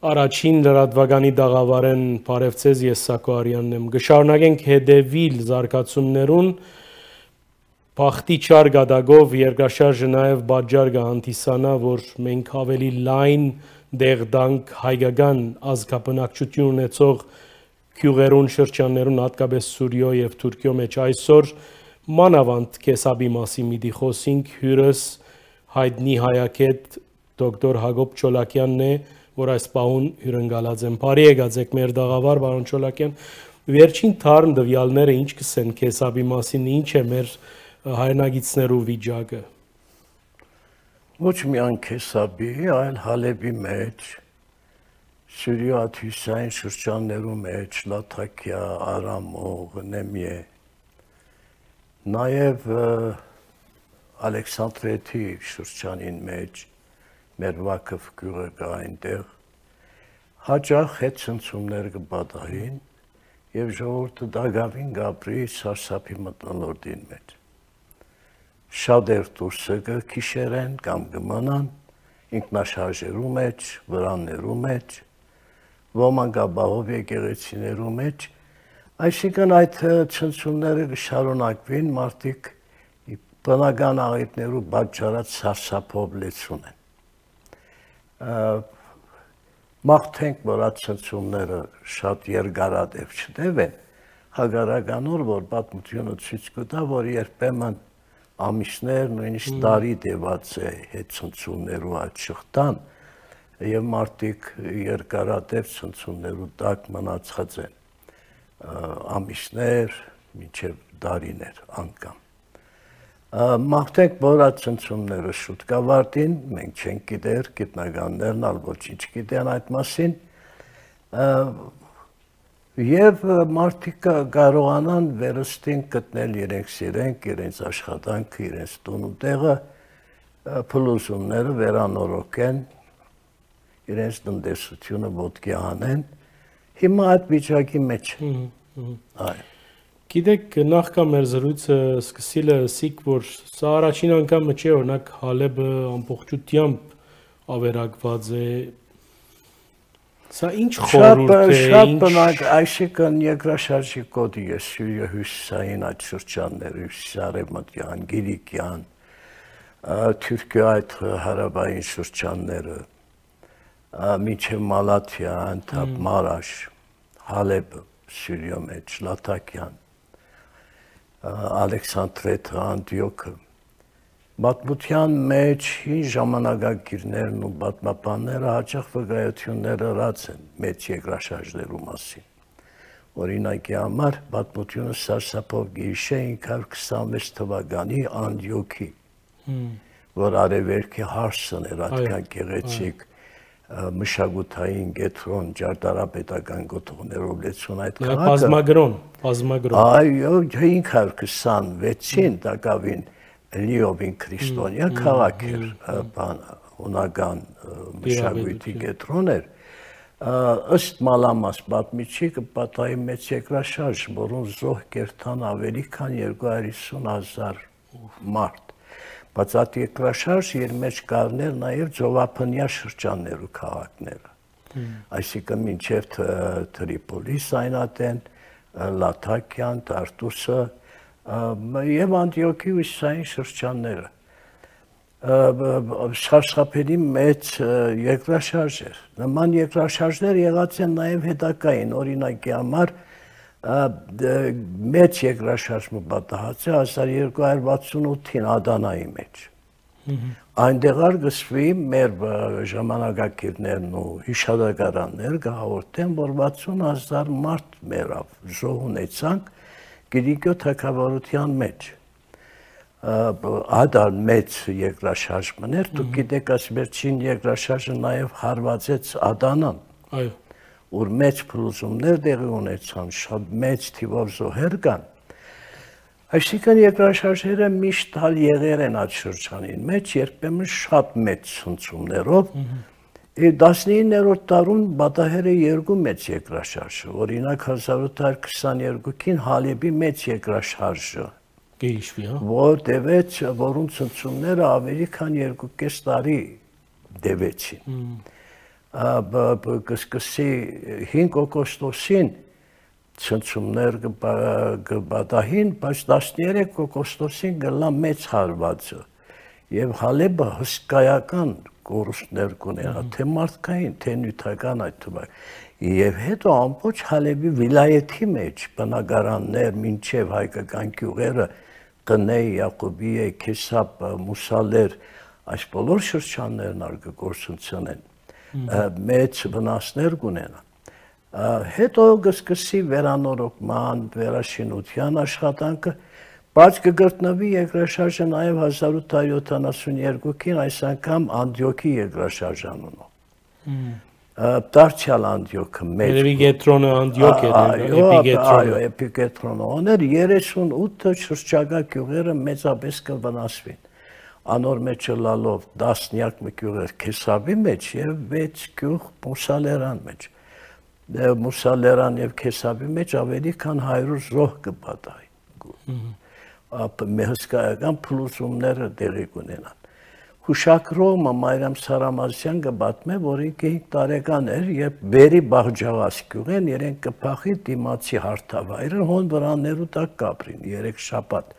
Առաջին լրատվականի դաղավարեն Փարեվցեզ ես Սակո Արյանն եմ։ Գշարունակենք հետևիլ զարգացումներուն Բախտի չար գադագով երկրաշարժը նաև բաժար կհանդիսանա, որ մենք ավելի լայն դեղդանք հայկական ազգաբնակչություն ունեցող գյուղերուն շրջաններուն հատկապես Սուրիո եւ Թուրքիո մեջ այսօր մանավանդ կեսաբի մասի միտի խոսինք հյուրս հայտնի հայագետ դոկտոր Հակոբ Չոլակյանն է, որ այս պահուն հյուրընկալած են։ Բարի եկած եք մեր դաղավար, պարոն Չոլակյան։ Վերջին թարմ տվյալները ինչ կսեն կեսաբի մասին, ինչ է մեր հայրենագիցներու վիճակը։ Ոչ միայն Քեսաբի, այլ Հալեբի մեջ, Սուրիո հյուսային շրջաններու մեջ, Լաթաքիա, Արամող, Նեմիե, նաև Ալեքսանդրեթի շրջանին մեջ, մեր Վակով գյուղը կա այնտեղ, հաճախ հետ ցնցումներ կբադային եւ ժողովուրդը դագավին գաբրի սարսափի մտնոլորտին մեջ։ Շատեր դուրսը կքիշերեն կամ կմնան ինքնաշարժերու մեջ, վրաններու մեջ, ոմանք ապահով եկեղեցիներու մեջ, այսինքն այդ ցնցումները կշարունակվին, մարդիկ բնական աղետներու պատճառած սարսափով լեցուն են։ Մաղթենք, որ այդ ցնցումները շատ երկարատև չտևեն, հակառականոր, որ պատմությունը ցույց կտա, որ երբեմն ամիսներ, նույնիսկ տարի տևած է հետ ցնցումներու այդ շղթան եւ մարդիկ երկարատև ցնցումներու տակ մնացած են ամիսներ, մինչեւ տարիներ անգամ։ Մաղթենք, որ այդ ցնցումները շուտ կավարտին, մենք չենք գիտեր, գիտնականներն ալ ոչինչ գիտեն այդ մասին, եւ մարդիկ կարողանան վերստին գտնել իրենց սիրենք, իրենց աշխատանքը, իրենց տուն ու տեղը, փլուզումները վերանորոգեն, իրենց տնտեսությունը ոտքի հանեն, հիմա այդ վիճակի մեջ այ։ Գիտեք, նախքան մեր զրույցը սկսիլը ասիք, որ սա առաջին անգամը չէ, օրինակ Հալեբը ամբողջությամբ ավերակված է։ Սա ինչ խորհուրդ է, շատ բնակ, այսինքն երկրաշարժի կոդի է Սուրիա հյուսիսային այդ շրջանները, հյուսիսարևմտյան, Գիրիկյան, Թուրքիա այդ հարավային շրջանները, մինչև Մալաթիա, Անտապ, Մարաշ, Հալեբ, Սուրիո մեջ, Լաթաքյան, Ալեքսանդրեթը, Անտիոքը, Պատմության մեջ հին ժամանակագիրներն ու պատմաբանները հաճախ վկայություններ ըրած են մեծ երկրաշարժներու մասին։ Օրինակի համար պատմությունը սարսափով գիշե 526 թվականի Անտիոքի, որ արևելքի հարսն էր այդքան գեղեցիկ մշակութային գետրոն ճարտարապետական գոտողներով լեցուն այդ քաղաքը։ Բազմագրոն։ Այո, 526-ին տակավին Լիովին քրիստոնյա քաղաք էր, հունական մշակույթի կենտրոն էր, ըստ մալամաս պատմիչի կպատահի մեծ երկրաշարժ, որոնց զոհ կերտան ավելի քան 250,000 մարդ, բայց այդ երկրաշարժ իր մեջ կառներ նաև ծովափնյա շրջաններու քաղաքները, այսինքն մինչև Տրիպոլիս այնատեն, Լաթաքյան, Տարտուսը, եւ Անտիոքի հյուսիսային շրջանները սարսափելի մեծ երկրաշարժ էր։ Նման երկրաշարժներ եղած են նաեւ հետագային, օրինակի համար մեծ երկրաշարժը պատահած է 1268-ին Ադանայի մեջ։ Այնտեղ գսվի մեր ժամանակակիրներն ու հիշադակարաններ կհաղորդեն, որ 60,000 մարդ մեռավ, զոհ ունեցանք Գիրիկյո թագավորության մեջ, ադար մեծ երկրաշարժ մներ, դուք գիտեք այս վերջին երկրաշարժը նաև հարվածեց Ադանան, որ մեծ փլուզումներ տեղի ունեցան, շատ մեծ թիվով զոհեր կան, այսինքն երկրաշարժերը միշտ հալ եղեր են այդ շրջանին մեջ, երբեմն շատ մեծ ցնցումներով, 19-րդ դարուն պատահել է երկու մեծ երկրաշարժը, օրինակ 1822-ին Հալեբի մեծ երկրաշարժը, որ տևեց, որոնց ցնցումները ավելի քան 2.5 տարի տևեցին։ կսկսի 5 օգոստոսին ցնցումներ կբադահին, բայց 13 օգոստոսին գլա մեծ հարվածը եւ Հալեբը հսկայական կորուստներ կունենա, թե մարդկային, թե նյութական այդ թվակ։ Եվ հետո ամբողջ Հալեբի վիլայեթի մեջ բնակարաններ մինչև հայկական գյուղերը Տնեյ, Յակոբիե, Քեսապ, Մուսալեր, այս բոլոր շրջաններն արգգործությունեն, մեծ վնասներ կունենան։ Հետո կսկսի վերանորոգման, վերաշինության աշխատանքը, բայց կգտնվի երկրաշարժը նաև 1872-ին այս անգամ Անդիոքի երկրաշարժանունով։ Դարձյալ Անդիոքը մեծ։ Երևի Գետրոնը Անդիոք էր, էպիգետրոնը։ Այո, էպիգետրոնը օներ 38 շրջակա գյուղերը մեծապես կվնասվին։ Անոր մեջ լալով 10 գյուղեր Քեսաբի մեջ եւ 6 գյուղ Մուսալերան մեջ։ Մուսալերան եւ Քեսաբի մեջ ավելի քան 100 զոհ կպատահի։ Հսկայական փլուզումները տեղի կունենան։ Հուշակրողը Մարիամ Սարամազյան կպատմե, որ 5 տարեկան էր, երբ Բերի Բաղջավաս գյուղեն իրեն կփախի դիմացի հարթավայրը, հոն վրաններու տակ կապրին 3 շաբաթ։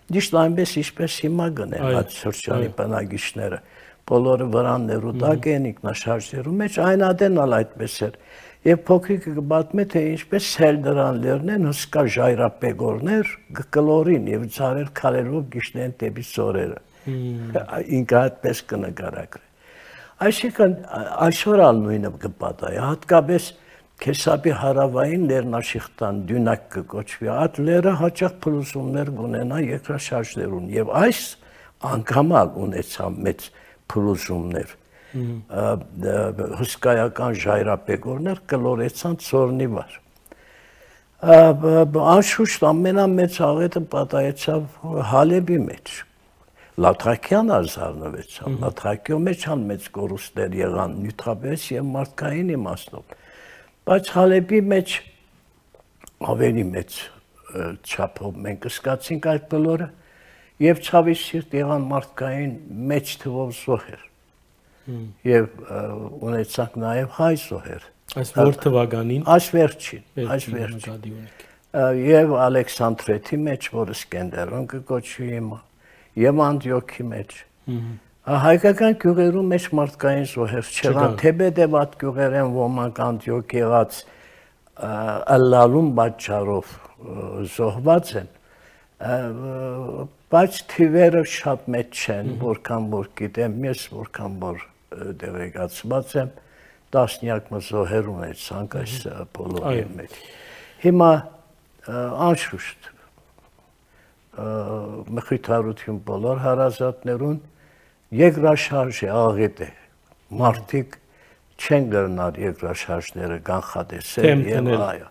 Դիշտ այնպես ինչպես հիմա գնեն այդ շրջանի բնակիչները, բոլորը վրաններու տակ են ինքնաշարժերու մեջ, այն ադենալ այդպես էր։ Եվ փոքրիկը կպատմի, թե ինչպես սել դրան լերնեն հսկա ժայռապեգորներ կկլորին եւ ցարեր քարերով գիշնեն դեպի ծորերը։ Ինքը այդպես կնկարագրի։ Այսինքն այսօր ալ նույնը կպատահի, հատկապես Քեսապի հարավային լեռնաշիխտան դյունակ կոչվի, այդ լերը հաճախ փլուզումներ կունենա երկրաշարժերուն եւ այս անգամ ունեցավ մեծ փլուզումներ։ Հսկայական ժայռապեգորներ կլորեցան ծորնի վար։ Անշուշտ ամենամեծ աղետը պատահեցավ Հալեբի մեջ։ Լաթրակյան ազարնվեցավ, Լաթրակյո մեջ մեծ կորուստներ եղան նյութապես եւ մարդկային իմաստով։ Բայց Հալեբի մեջ ավելի մեծ չափով մենք զգացինք այդ բոլորը եւ ցավի սիրտ եղան մարդկային մեծ թվով զոհեր։ Եվ ունեցանք նաև հայ զոհեր։ Այս որ թվականին։ Այս վերջին։ Եվ Ալեքսանդրեթի մեջ, որը Սկենդերոն կոչվի հիմա, եւ Անդիոքի մեջ։ Հայկական գյուղերու մեջ մարդկային զոհեր չեղան, թեպետև այդ գյուղերեն ոմանք Անդիոք եղած ըլլալուն պատճառով զոհված են, բայց թիվերը շատ մեծ չեն, որքան որ գիտեմ ես, որքան որ դեղեկացված եմ, տասնյակ զոհեր ունեցանք այս բոլորի մեջ։ Հիմա անշուշտ մխիթարություն բոլոր հարազատներուն երկրաշարժի աղետ է, մարդիկ չեն գրնար երկրաշարժները կանխատեսել եւ այո։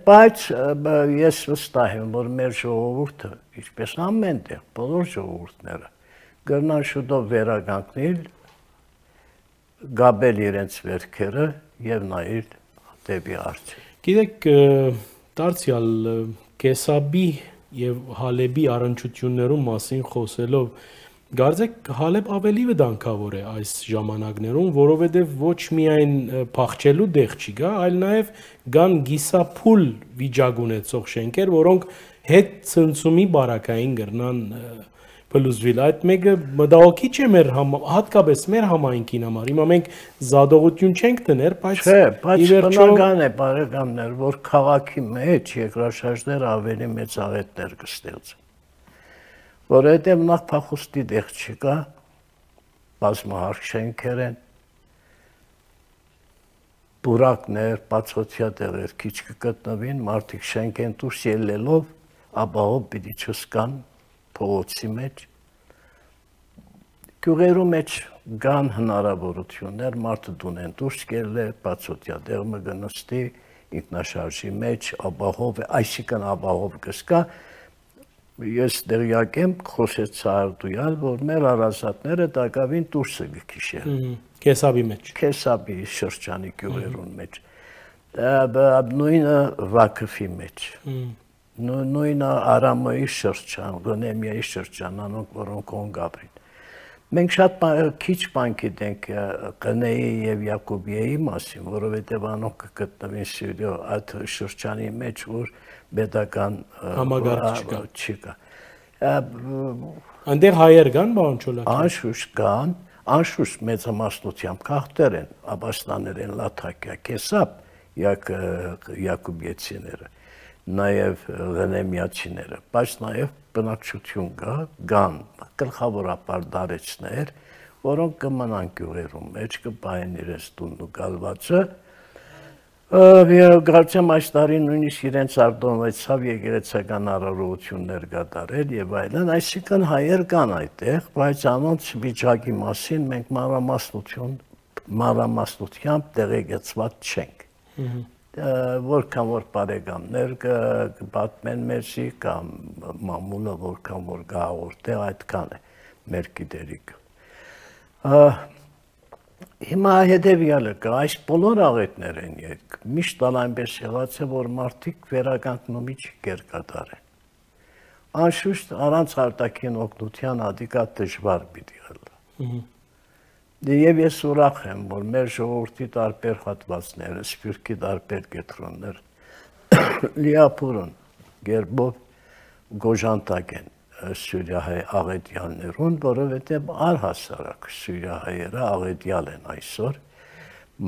Բայց ես վստահ եմ, որ մեր ժողովուրդը, ինչպես ամեն տեղ, բոլոր ժողովուրդները գրնան շուտով վերականգնել, գաբել իրենց վերքերը եւ նայել դեպի առջև։ Գիտեք, դարձյալ Քեսաբի եւ Հալեբի առնչություններու մասին խոսելով, Գարձեք Հալեբ ավելի վտանգավոր է այս ժամանակներում, որովհետև ոչ միայն փախչելու դեղ չի գա, այլ նաև կան գիսափուլ վիճակ ունեցող շենքեր, որոնք հետ ցնցումի բարակային գրնան փլուզվել։ Այդ մեկը մտահոգիչ է մեր հատկապես մեր համայնքին համար։ Հիմա մենք զադողություն չենք դներ, բայց բնական է, բարեկամներ, որ քաղաքի մեջ երկրաշարժները ավելի մեծ աղետներ կստեղծեն։ Որովհետև նախ փախուստի դեղ չկա, բազմահարկ շենքեր են, բուրակներ, բացօթյա տեղեր քիչ կգտնվին, մարդիկ շենք են դուրս ելնելով, ապահով պիտի չսկան փողոցի մեջ։ Գյուղերու մեջ կան հնարավորություններ, մարդը դունեն դուրս գելը, բացօթյա տեղ մը գնստի, ինքնաշարժի մեջ, ապահով, այսինքն ապահով կսկա։ Ես դերյակ եմ խոսեց Սարդույալ, որ մեր հարազատները տակավին դուրսը գքիշեն։ Քեսաբի մեջ։ Քեսաբի շրջանի գյուղերուն մեջ։ Նույնը Վակֆի մեջ։ Նույնը Արամոյի շրջան, Գոնեմիայի շրջան, անոնք որոնք կոն գաբրին։ Մենք շատ քիչ բան գիտենք Կնեի եւ Յակոբիայի մասին, որովհետեւ անոնք կգտնվին Սյուրիո այդ շրջանի մեջ, որ պետական համագարակ չկա։ Այնտեղ հայեր կան, պարոն Չոլակյան։ Անշուշտ կան, անշուշտ մեծամասնությամբ քախտեր են, աբաստաներ են, Լաթակիա, Կեսապ, Յակոբիեցիները, նաեւ Ղենեմիացիները, բայց նաեւ բնակչություն կան գլխավորապես դարեցներ, որոնք կմնան գյուղերում մեջ, կպահեն իրենց տունն ու գալվածը, Կարծեմ այս տարի նույնիսկ իրենց արտոնվեցավ եկեղեցական առողջություններ կատարել եւ այլն, այսինքն հայեր կան այդտեղ, բայց անոնց վիճակի մասին մենք մանրամասնությամբ տեղեկացված չենք։ Որքան որ բարեկամներ կպատմեն մեզի կամ մամուլը որքան որ գաղորդե այդքան է մեր գիտելիքը։ Հիմա հետևյալը կա, այս բոլոր աղետներ են միշտ այնպես եղած է, որ մարդիկ վերականգնումի չկեր կատարեն։ Անշուշտ առանց արտաքին օգնության ադիկա դժվար պիտի ըլլա։ Եվ ես ուրախ եմ, որ մեր ժողովրդի տարբեր հատվածները, սփյուռքի տարբեր կետրոններ լիապուրն գերբով գոժանտակ են Սյուրիահայ աղետյալներուն, որովհետև առհասարակ Սյուրիահայերը աղետյալ են այսօր,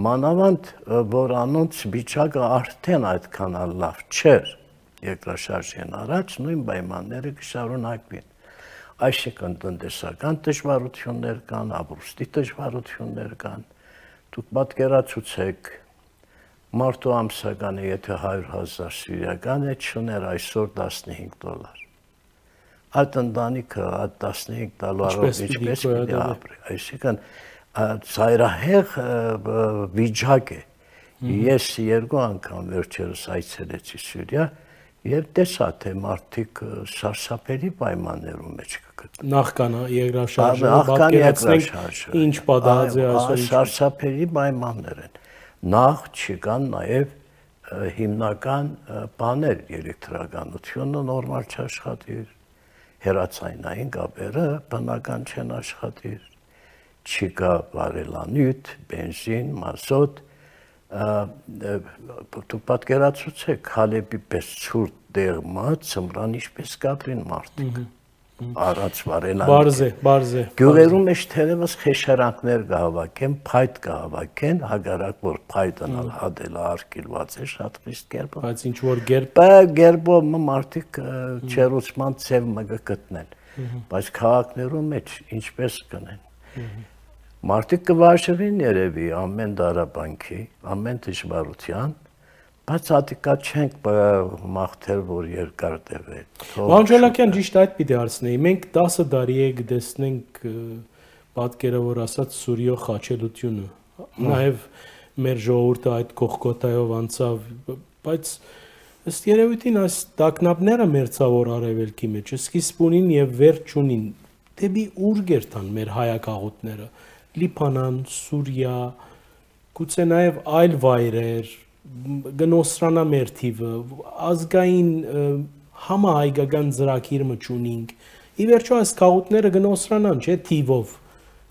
մանավանդ որ անոնց վիճակը արդեն այդքան լավ չէր երկրաշարժին առաջ, նույն պայմանները կշարունակվին։ Այսինքն տնտեսական դժվարություններ կան, ապրուստի դժվարություններ կան, դուք պատկերացուցեք մարդու ամսականը, եթե 100,000 սյուրիական է, չուներ այսօր $15։ Այդ ընտանիքը այդ 15 դոլարով ինչպես պիտի ապրի, այսինքն ծայրահեղ վիճակ է։ Ես 2 անգամ վերջերս այցելեցի Սյուրիա եւ տեսա թե մարդիկ սարսափելի պայմաններում մեջ կգտնվեն։ Նախքան երկրաշարժը պատկերացնենք ինչ պատահած է այսօր, սարսափելի պայմաններ են։ Նախ չկան նաեւ հիմնական բաներ, էլեկտրականությունը նորմալ չաշխատի, հեռացայնային կապերը բնական չեն աշխատիր, չկա վարելանյութ, բենզին, մազոտ, դուք պատկերացուցեք Հալեբի պես ցուրտ դեղմա ծմրան ինչպես կապրին մարդիկ, առանց վարելանյութ։ Բարզ է։ Գյուղերում մեջ թերևս խեշարանքներ կհավաքեն, փայտ կհավաքեն, հագարակ որ փայտն հադելը արկելված է շատ խիստ կերպով։ Բայց ինչ որ գերբով մարդիկ չերուցման ծև մը գտնեն, բայց քաղաքներում մեջ ինչպես կնեն։ Մարդիկ կվարժվին երևի ամեն դարաբանքի, ամեն դժվարության, բայց ատիկա չենք մաղթել, որ երկար տևե։ Պարոն Չոլակյան, ճիշտ այդ պիտի հարցնեի, մենք 10 տարի է կտեսնենք պատկերը, որ ասած Սուրիո խաչելությունը, նաև մեր ժողովուրդը այդ կողքոտայով անցավ, բայց ըստ երևույթին այս տագնապները մերձավոր արևելքի մեջ սկիզբ ունին եւ վերջ ունին, դեպի ուր գերտան մեր հայակաղուտները, Լիբանան, Սուրիա, գուցե նաև այլ վայրեր, գնոսրանա մեր թիվը, ազգային համահայկական ծրագիրը չունինք։ Ի վերջո այս քաղուտները գնոսրանան, չէ, թիվով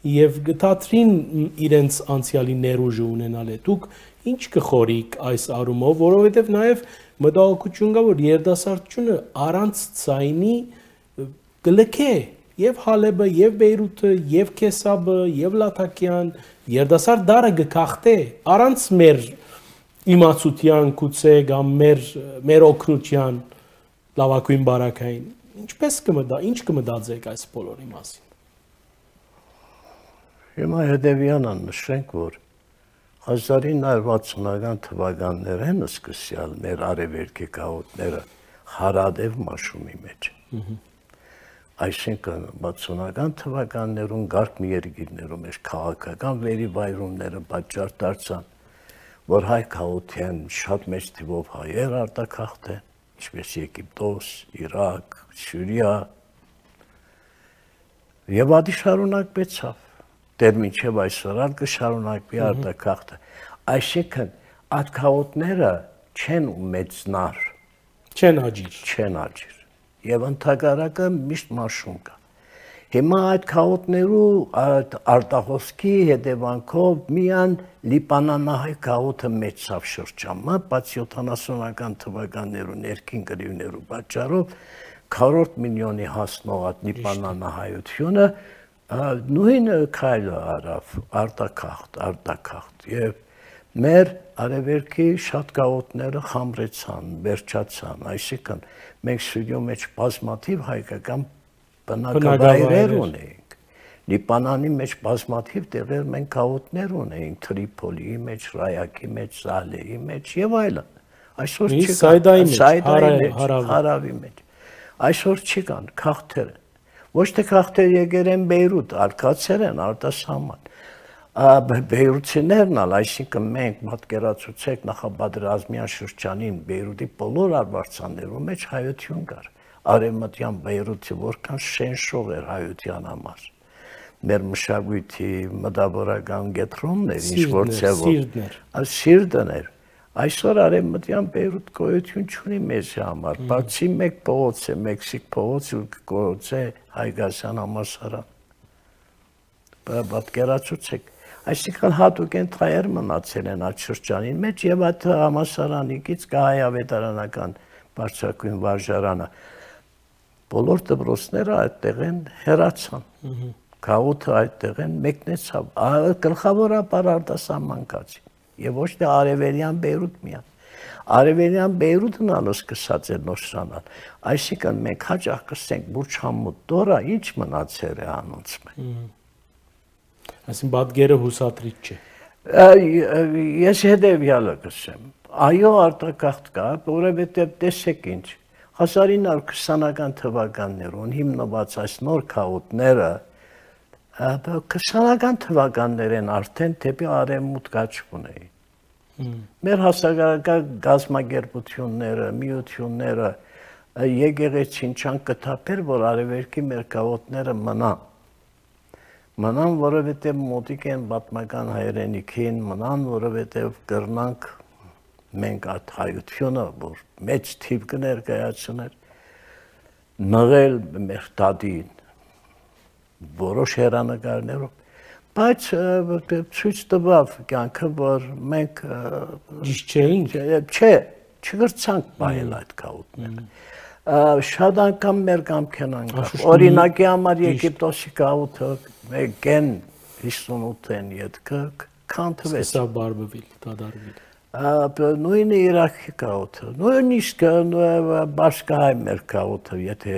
եւ գտածրին իրենց անցյալի ներուժը ունենալ է։ Դուք ինչ կխորիկ այս առումով, որովհետեւ նաև մտահոգություն կա, որ երիտասարդությունը առանց ցայնի գլքե եւ Հալեբը, եւ Բեյրութը, եւ Քեսաբը, եւ Լաթակիան, երիտասարդ դարը գքախտե առանց մեր իմացության գուցե կամ մեր օգնության լավագույն բարակային։ Ինչպես ինչ կմտածեք այս բոլորի մասին։ Հիմա հետևյալը նշենք, որ 1960-ական թվականներն սկսյալ մեր արևելքի գաղութները հարադև մաշումի մեջ։ Այսինքն 60-ական թվականներում գարկ մի երկիրներում էր քաղաքական վերիվայրումները պատճառ դարձան, որ հայ քաղաքեն շատ մեծ թվով հայեր արտաքաղթեն, ինչպես Եգիպտոս, Իրաք, Սյուրիա, եւ ադի շարունակվեցավ։ Դեռ մինչև այսօր ալ կշարունակվի արտաքաղթը։ Այսինքն այդ քաղաքները չեն մեծնար, չեն աջիր։ Եվ ընդհակառակը միշտ մաշում կա։ Հիմա այդ քաղաքներու արտահոսքի հետևանքով միան լիբանանահայ քաղաքը մեծավ շրջանը, բայց 70-ական թվականներու ներքին գրիվներու պատճառով 4 միլիոնի հասնող այդ լիբանանահայությունը նույն քայլը արավ արտակախտ եւ մեր արևելքի շատ քաղաքները խամրեցան, վերջացան, այսինքն մենք ստուդիո մեջ բազմաթիվ հայկական բնակավայրեր ունեինք։ Լիբանանի մեջ բազմաթիվ տեղեր մենք քաղաքներ ունեինք, Տրիպոլիի մեջ, Ռայակի մեջ, Սալեի մեջ եւ այլն։ Այսօր չկան, հարավի մեջ։ Այսօր չկան քաղաքներ։ Ոչ թե քաղաքներ եկել են Բեյրութ, արկածեր են արտասահման։ Բեյրութցիներն ալ, այսինքն մենք պատկերացուցեք նախապատրազմյան շրջանին Բեյրութի բոլոր արվարձաններու մեջ հայություն կար։ Արևմտյան Բեյրութը որքան շենշող էր հայության համար։ Մեր մշակույթի մտավորական կենտրոններ, ինչ որ ձևով սիրտն էր։ Այսօր արևմտյան Բեյրութ գոյություն չունի մեզ համար, բացի մեկ փողոց է, Մեքսիկ փողոց ու գործե Հայգասյան համալսարան։ Պատկերացուցեք, այսինքն հատուկ են թայեր մնացել են այդ շրջանին մեջ եւ այդ համալսարանից հայավետարանական բարձրակույն վարժարանը բոլոր դպրոցները այդտեղ են հեռացան։ Քաղաքը այդտեղ են մեկնեցավ, գլխավորապես արտասահման կացին եւ ոչ թե արևելյան Բեյրութ միան։ Արևելյան Բեյրութն ալ սկսած է նոշրանալ։ Այսինքն մենք հաճախ կսենք Բուրչամուտ դորա ինչ մնացել է անոնց մեն։ Այսինքն պատկերը հուսատրիչ չէ։ Ես հետևյալը կսեմ։ Այո, արտակախտ կա, որովհետև տեսեք ինչ 1920-ական թվականներուն հիմնված այս նոր քաղաքները 20-ական թվականներեն արդեն դեպի արևմուտք աչք ունեին։ Մեր հասարակական գազམ་ագերբությունները, միությունները եկեղեցին չան կթափել, որ արևելքի մեր քաղաքները մնան, որովհետև մոտիկ են պատմական հայրենիքին, մնան, որովհետև կրնանք մենք այդ հայությունը, որ մեծ թիվ կներկայացներ, նղել մեր դադին, որոշ հեռանկարներով, բայց ցույց տվավ կյանքը, որ մենք չգրցանք բայել այդ քաղաքները։ Շատ անգամ մեր կամքեն անգամ։ Օրինակի համար Եգիպտոսի քաղաքը գեն 58-ին ետքը քանթվեց։ Սա բարբվիլ, դադարվիլ։ Նույնը Իրաքի քաղաքը, նույնիսկ Բաշկահայ մեր քաղաքը, եթե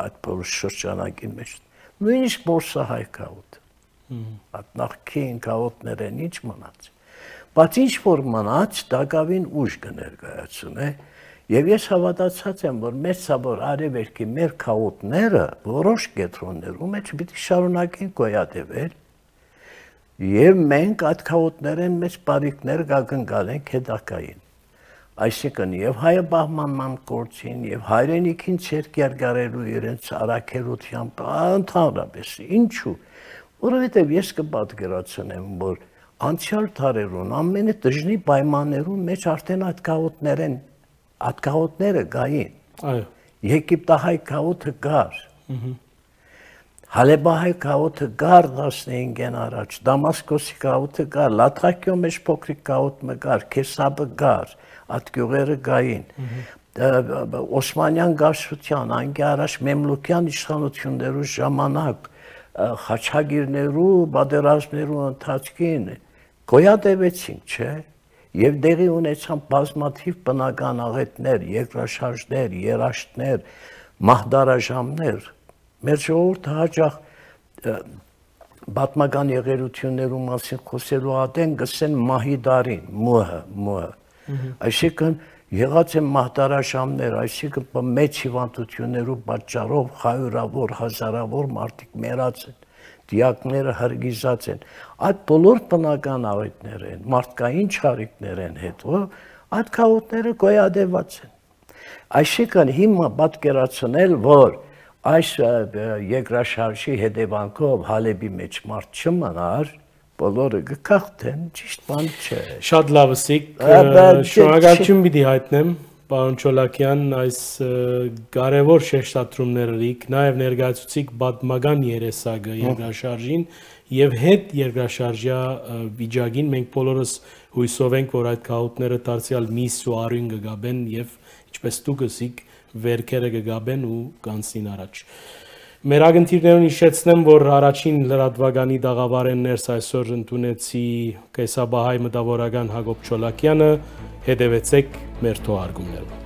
այդ բոլոր շրջանակի մեջ, նույնիսկ Բորսահայ քաղաքը, այդ նախքին քաղաքներ են ինչ մնաց, բայց ինչ որ մնաց, դակավին ուժ կներկայացնե, եւ ես հավատացած եմ, որ մեծաբար արևելքի մեր քաղաքները որոշ կենտրոններում մեջ պիտի շարունակեն գոյատևել եւ մենք այդ քաղաքներեն մեծ բարիկներ կգնկալենք հետակային։ Այսինքն եւ հայը բահմանման գործին եւ հայրենիքին ցերկ երգարելու իրենց արաքելությամբ ընդհանրապես ինչու, որովհետեւ ես կպատկերացնեմ, որ անցյալ տարերուն ամենը դժնի պայմաններուն մեջ արդեն այդ քաղաքները գային։ Այո։ Եգիպտահայ քաղաքը գար։ Հալեբահայ քաղաքը գար 15-ին առաջ, Դամասկոսի քաղաքը գար, Լաթակիո մեջ փոքրիկ քաղաքը գար, Քեսաբը գար, այդ գյուղերը գային։ Օսմանյան գարշության, անգի առաջ Մեմլուկյան իշխանություններու ժամանակ խաչագիրներու, պատերազմներու ընթացքին գոյատևեցին, չէ՞։ Եվ դեղի ունեցան բազմաթիվ բնական աղետներ, երկրաշարժներ, երաշտներ, մահդարաժամներ։ Մեր ժողովուրդը հաճախ պատմական եղերություններու մասին խոսելու ատեն գսեն մահիդարին, մոհը։ Այսինքն եղած են մահդարաժամներ, այսինքն մեծ հիվանդություններու պատճառով հարյուրավոր, հազարավոր մարդիկ մեռած են, դիակները հրգիզած են։ Այդ բոլոր բնական աղետներ են, մարդկային չարիքներ են հետո, այդ քաղաքները գոյատևած են։ Այսինքն հիմա պատկերացնել, որ այս երկրաշարժի հետևանքով Հալեբի մեջ մարդ չմնար, բոլորը կքախտեն, ճիշտ բան չէ։ Շատ լավ ասիք, շնորհակալություն պիտի հայտնեմ պարոն Չոլակյան, այս կարևոր շեշտադրումներիք, նաև ներկայացուցիք պատմական երեսակը երկրաշարժին եւ հետ երկրաշարժյա վիճակին մենք բոլորս հույսով ենք, որ այդ գաղութները դարձյալ միս ու արյուն կգաբեն եւ ինչպես դուք ասիք, վերքերը կգաբեն ու կանցնին առաջ։ Մեր ագնտիրներուն հիշեցնեմ, որ առաջին լրատվականի տաղավարեն ներս այսօր ընդունեցի կեսաբահայ մտավորական Հակոբ Չոլակյանը, հետևեցեք մեր թողարկումներով։